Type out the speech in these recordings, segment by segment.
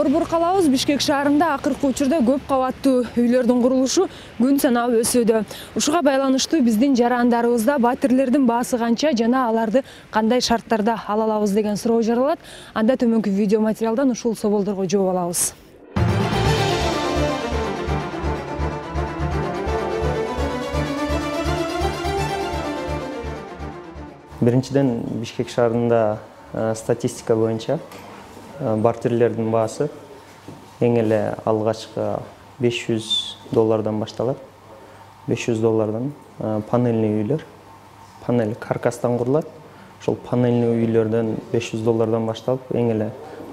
Борбор калабыз Бишкек шаарында акыркы учурда көп кабаттуу үйлөрдүн курулушу күн санап өсүүдө. Ушуга байланыштуу биздин жарандарыбызда батирлердин баасы канча жана аларды кандай шарттарда ала алабыз деген суроо жаралат. Анда төмөнкү видео материалдан ушул соолдорго жооп алабыз. Биринчиден Бишкек шаарында статистика боюнча батирлердин баасы эң эле алгачкы $500 башталат. $500 панельный үйлөр, панель каркастан курулат. Ошол панельный үйлөрдөн $500 башталып, эң эле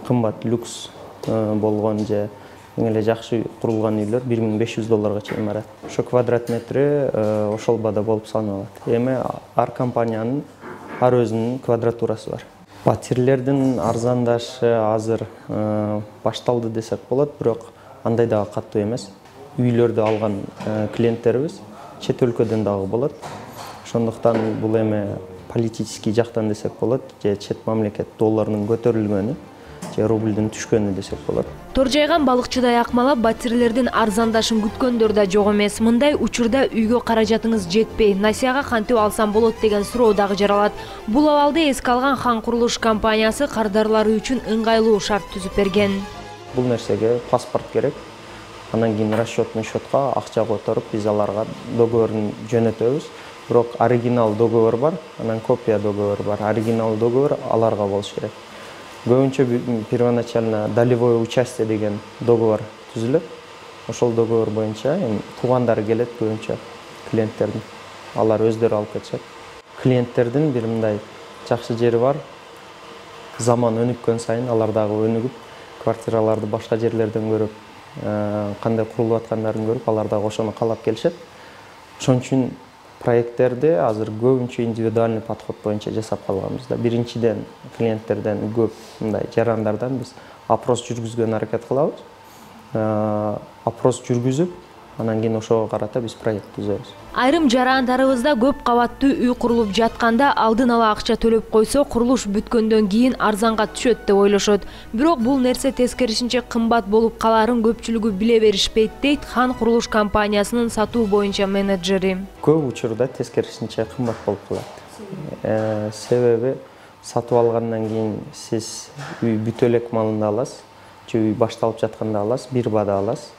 кымбат люкс болгон же эң эле жакшы курулган үйлөр $1500 чейин барат. Ошо квадрат метри ошол баада болуп саналат. Эми ар компаниянын ар өзүнүн квадратурасы бар. Батирлердин арзандашы азыр башталды десек болот, бирок андай дагы катуу эмес. Үйлөрдү алган клиенттерибиз чет өлкөдөн дагы болот. Ошондуктан бул эми политический жактан десек болот, же чет мамлекет долларынын көтөрүлгөнү, же рубльдин түшкөнү десек болот. Тор жайган балыкчыдай акмалап, батирлердин арзандашын күткөндөр да жок эмес. Мындай учурда үйгө каражатыңыз жетпей, насияга кантип алсам болот деген суроо дагы жаралат. Бул абалды эске алган Хан курулуш компаниясы кардарлары үчүн ыңгайлуу шарт түзүп берген. Бул нерсеге паспорт керек. Анан кийин расчетный счетко акча которуп, биз аларга договорун жөнөтөбүз. Бирок оригинал договор бар, анан копия договор бар. Оригинал договор аларга болуш керек. Көбүнчө первоначально долевое участие деген договор түзүлөт. Ошол договор боюнча туугандары келет көбүнчө клиенттердин. Алар өздөрү алып кетишет. Клиенттердин бир мындай жакшы жери бар. Заман өнүккөн сайын алар дагы өнүгүп, квартираларды башка жерлерден көрүп, кандай курулуп аткандарын көрүп, алар дагы ошону каалап келишет. Ошон үчүн проекттерди азыр көбүнчө индивидуальный подход боюнча жасап калганбыз да. Биринчиден клиенттерден көп мындай жарандардан биз опрос жүргүзгөн аракет кылабыз. Опрос жүргүзүп, анан кийин ошого карата биз проект түзөбүз. Айрым жарандарыбызда көп кабаттуу үй курулуп жатканда алдын ала акча төлөп койсо, курулуш бүткөндөн кийин арзанга түшөт деп ойлошот. Бирок бул нерсе тескерисинче кымбат болуп калаарын көпчүлүгү биле беришпейт, дейт Хан курулуш компаниясынын сатуу боюнча менеджери. Көп учурда тескерисинче кымбат болуп калат. Себеби сатып алгандан кийин сиз үй бүтө элек малында аласыз, же үй башталып жатканда аласыз, бир баада аласыз.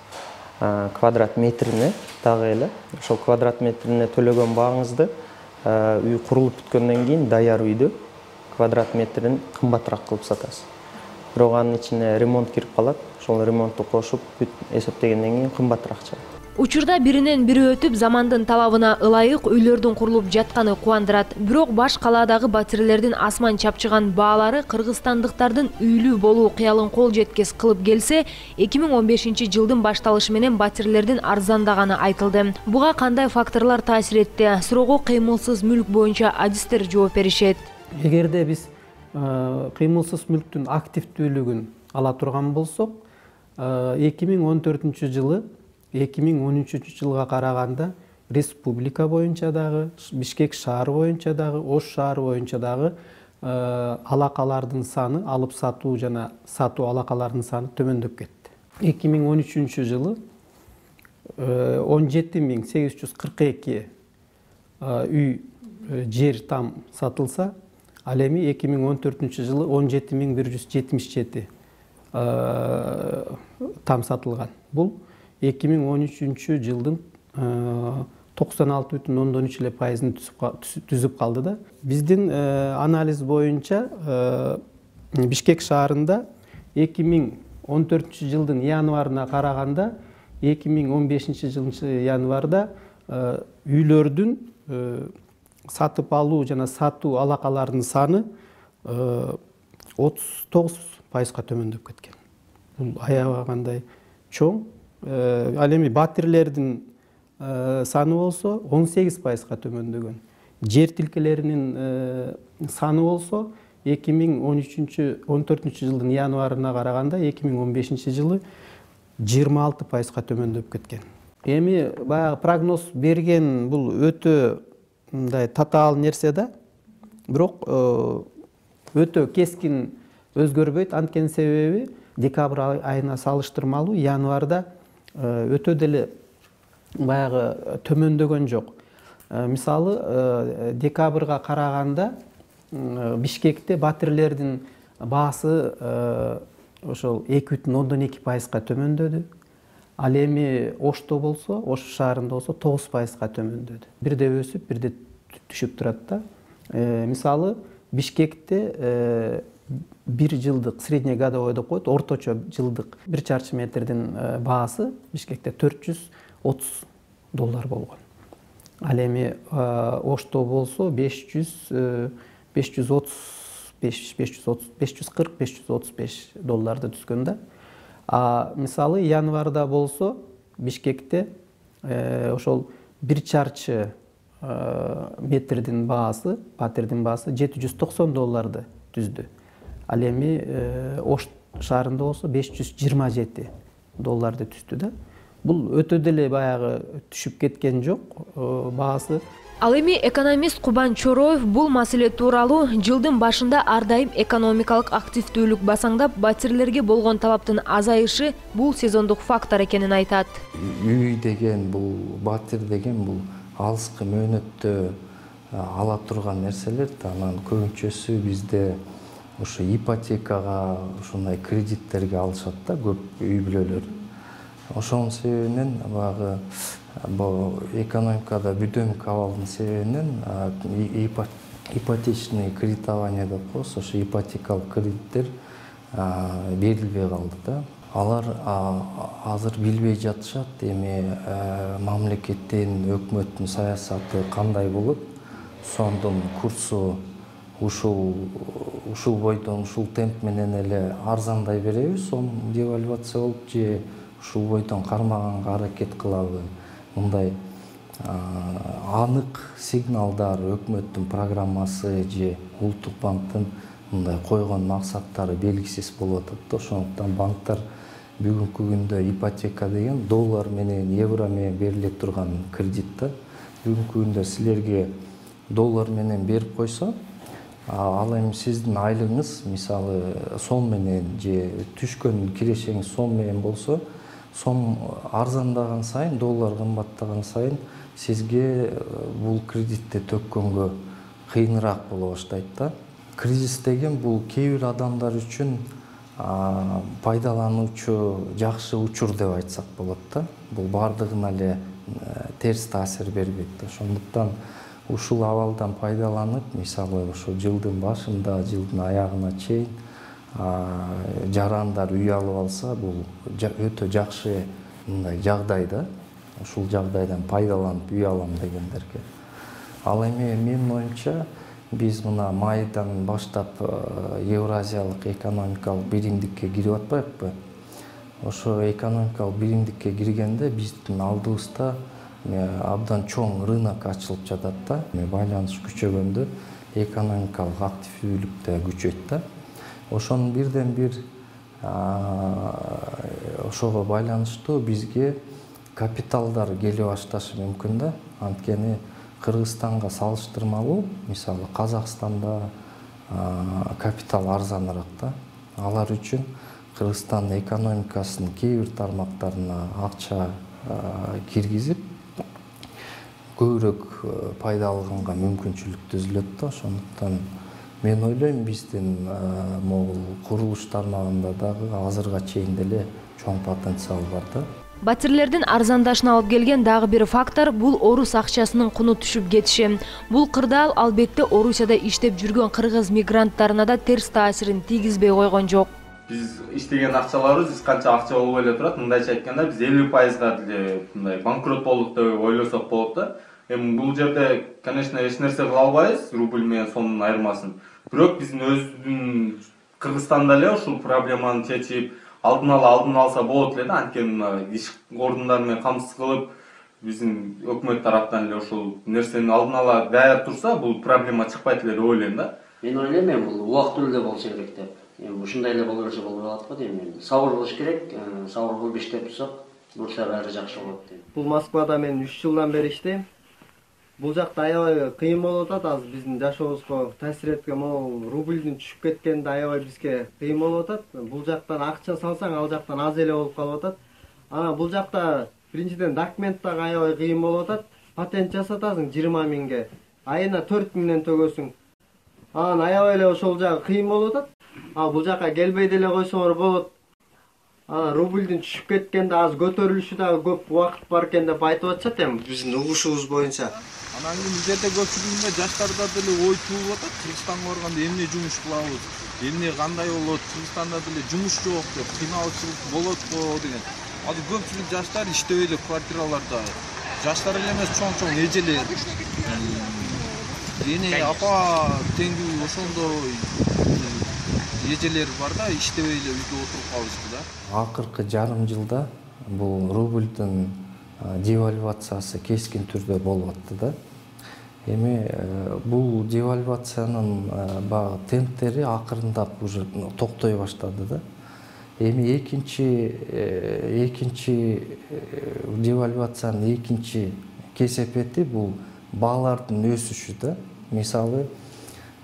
Квадрат метрине дагы эле ошол квадрат метрине төлөгөн бааңызды үй курулуп бүткөндөн кийин даяр үйдү квадрат метрин кымбатыраак кылып сатасыз. Бирок анын ичине ремонт кирип калат. Ошол ремонтту кошуп эсептегенден кийин кымбатыраак чыгат. Учурда биринен бири өтүп, замандын талабына ылайык үйлөрдүн курулуп жатканы кубандырат. Бирок баш калаадагы батирлердин асман чапчыган баалары кыргызстандыктардын үйлүү болуу кыялын кол жеткес кылып келсе, 2015-жылдын башталышы менен батирлердин арзандаганы айтылды. Буга кандай факторлор таасир этти? Суроого кыймылсыз мүлк боюнча адистер жооп беришет. Эгерде биз кыймылсыз мүлктүн активдүүлүгүн ала турган болсок, 2014-жылы 2013-жылга караганда республика боюнча дагы, Бишкек шаары боюнча дагы, Ош шаары боюнча дагы алакалардын саны, алып сатуу жана сатуу алакалардын саны төмөндөп кетти. 2013-жылы 17.842 үй жер там сатылса, ал эми 2014-жылы 17.177 там сатылган. Бул 2013-жылдын 96,3% түзүп калды да. Биздин анализ боюнча Бишкек шаарында 2014-жылдын январына караганда 2015-жылдын январда үйлөрдүн сатып алуу жана сатуу алакаларынын саны 39%га төмөндөп кеткен. Бул аябай кандай чоң. Ал эми батирлердин саны болсо 18%га төмөндөгөн. Жер тилкелеринин саны болсо 2014-жылдын январына караганда 2015-жылы 26%га төмөндөп кеткен. Эми баягы прогноз берген бул өтө мындай татаал нерсе да. Бирок өтө кескин өзгөрбөйт. Анткени себеби декабрь айына салыштырмалуу январда өтө деле баягы төмөндөгөн жок. Мисалы декабрга караганда Бишкекте батирлердин баасы ошол 2,2% төмөндөдү. Ал эми Ошто болсо, Ош шаарында болсо 9% төмөндөдү. Бирде өсүп, бирде түшүп турат да. Мисалы Бишкекте бир жылдык среднегодовой деп коет, орточо жылдык 1 чарчы метрдин баасы Бишкекте $430 болгон. Ал эми Ошто болсо 540-535 долларды түскөн да. Мисалы январда болсо Бишкекте ошол 1 чарчы метрдин баасы, батирдин баасы $790 түздү. Ал эми Ош шаарында болсо $527 түздү да. Бул өтө деле баягы түшүп кеткен жок баасы. Ал эми экономист Кубан Чороев бул маселе тууралуу жылдын башында ар дайым экономикалык активдүүлүк басаңдап, батирлерге болгон талаптын азайышы бул сезондук фактор экенин айтат. Үй деген бул, батир деген бул алыскы мөөнөттө ала турган нерселер, анан көбүнчөсү бизде ошо ипотекага, ушундай кредиттерге алышат да көп үй бүлөлөр. Ошонун себебинен баягы экономикада бүдөмүк абалдын себебинен ипотечный кредитование деп коебуз, ошо ипотекалык кредиттер берилбей калды да. Алар азыр билбей жатышат эми мамлекеттин, өкмөттүн саясаты кандай болот, сомдун курсу ушул бойдон, ушул темп менен эле арзандай береби, сом девальвация болуп же ушул бойдон кармаганга аракет кылабы? Мындай анык сигналдар, өкмөттүн программасы же Улуттук банктын мындай койгон максаттары белгисиз болуп атат да. Ошондуктан банктар бүгүнкү күндө ипотека деген доллар менен, евро менен бериле турган кредит да. Бүгүнкү күндө силерге доллар менен берип койсо, ал эми сиздин айлыгыңыз мисалы сом менен же түшкөн кирешеңиз сом менен болсо, сом арзандаган сайын, доллар кымбаттаган сайын сизге бул кредитти төккөнгө кыйыныраак боло баштайт да. Кризис деген бул кээ бир адамдар үчүн пайдалануучу жакшы учур деп айтсак болот да. Бул бардыгына эле терс таасир бербейт да. Ошондуктан ушул абалдан пайдаланып, мисалы ошо жылдын башында, жылдын аягына чейин жарандар үй алып алса, бул өтө жакшы мындай жагдай да. Ушул жагдайдан пайдаланып үй алам дегендерге. Ал эми менин оюмча биз мына майдан баштап Евразиялык экономикалык биримдикке кирип атпайбыкпы? Ошо экономикалык биримдикке киргенде биздин алдыбызда абдан чоң рынок ачылып жатат да. Байланыш күчөгөндө экономикалык активдүүлүк да күчөйт да. Ошонун бирден бир ошого байланыштуу бизге капиталдар келе башташы мүмкүн да. Анткени Кыргызстанга салыштырмалуу, мисалы Казакстанда капитал арзаныраак да. Алар үчүн Кыргызстан экономикасынын кээ бир тармактарына акча киргизип, көбүрөөк пайда алганга мүмкүнчүлүк түзүлөт да. Ошондуктан мен ойлойм биздин могул курулуш тармагында дагы азырга чейин деле чоң потенциал бар да. Батирлердин арзандашына алып келген дагы бир фактор бул орус акчасынын куну түшүп кетиши. Бул кырдаал албетте Орусияда иштеп жүргөн кыргыз мигранттарына да терс таасирин тийгизбей койгон жок. Биз иштеген акчаларыбыз эч канча акча болбой эле турат. Мындайча айтканда биз 50%га деле мындай банкрот болдук деп ойлосок болот да. Эми бул жерде, конечно, эч нерсе кыла албайбыз, рубль менен сомдун айырмасын. Бирок биздин өзүбүздүн Кыргызстанда эле ушул проблеманы чечип, алдын алса болот эле да. Анткени иш ордундары менен камсыз кылып, биздин өкмөт тараптан эле ушул нерсени алдын ала даяр турса, бул проблема чыкпайт эле деп ойлойм да. Мен ойлойм, бул убактылуу эле болсо керек деп. Эми ушундай эле боло берсе болбой калат го дейм. Сабыр кылыш керек, сабыр кылып иштеп турсак, бурса баары жакшы болот дейм. Бул Москвада мен 3 жылдан бери иштейм. Бул жакта аябай кыйын болуп атат. Азыр биздин жашообузга таасир эткен могул рубльдин түшүп кеткенде аябай бизге кыйын болуп атат. Бул жактан акча салсаң, ал жактан аз эле болуп калып атат. Анан бул жакта биринчиден документ дагы аябай кыйын болуп атат. Патент жасатасың 20 миңге, айына 4 миңден төгөсүң. Анан аябай эле ошол жагы кыйын болуп атат. Бул жака келбей деле койсоңор болот. Рубльдин түшүп кеткенде аз көтөрүлүшү дагы көп убакыт бар экен деп айтып атышат эми биздин угушубуз боюнча. Анан кийин бул жерде көпчүлүгүндө жаштарда деле ой туулуп атат. Кыргызстанга барганда эмне жумуш кылабыз, эмне кандай болот, Кыргызстанда деле жумуш жок деп кыйналчылык болотпу деген. Азыр көпчүлүк жаштар иштебей эле квартираларда. Жаштар эле эмес, чоң эжелер. Эне апа теңдүү ошондой эжелер бар да, иштебей эле үйдө отуруп калышты да. Акыркы жарым жылда бул рубльдин девальвациясы кескин түрдө болуп атты да. Эми бул девальвациянын баягы темптери акырындап уже токтой баштады да. Эми экинчи девальвациянын экинчи кесепети бул баалардын өсүшү да. Мисалы,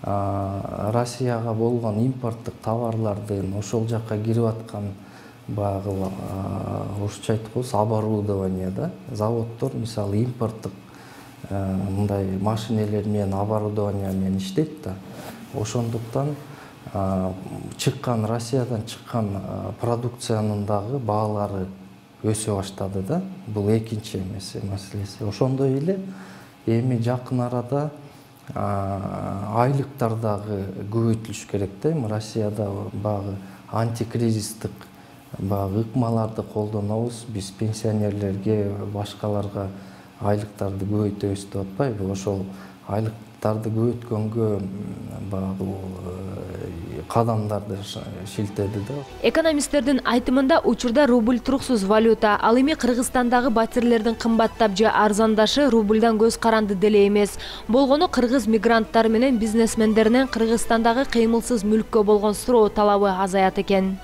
Россияга болгон импорттук товарлардын ошол жакка кирип аткан баягы орусча айтып койсо оборудование да. Заводдор мисалы импорттук мындай машинелер менен оборудование менен иштейт да. Ошондуктан чыккан Россиядан чыккан продукциянын дагы баалары өсө баштады да. Бул экинчи маселеси. Ошондой эле эми жакын арада айлыктар дагы көбөйтүлүш керек да. Эми Россияда баягы антикризистик баягы ыкмаларды колдонобуз. Биз пенсионерлерге, башкаларга айлыктарды көбөйтөбүз деп атпайбы? Ошол айлыктарды көбөйткөнгө баягы кадамдарды шилтеди да. Экономисттердин айтымында учурда рубль туруксуз валюта. Ал эми Кыргызстандагы батирлердин кымбаттап же арзандашы рубльдан көз каранды деле эмес. Болгону кыргыз мигранттары менен бизнесмендеринен Кыргызстандагы кыймылсыз мүлккө болгон суроо талабы азаят экен.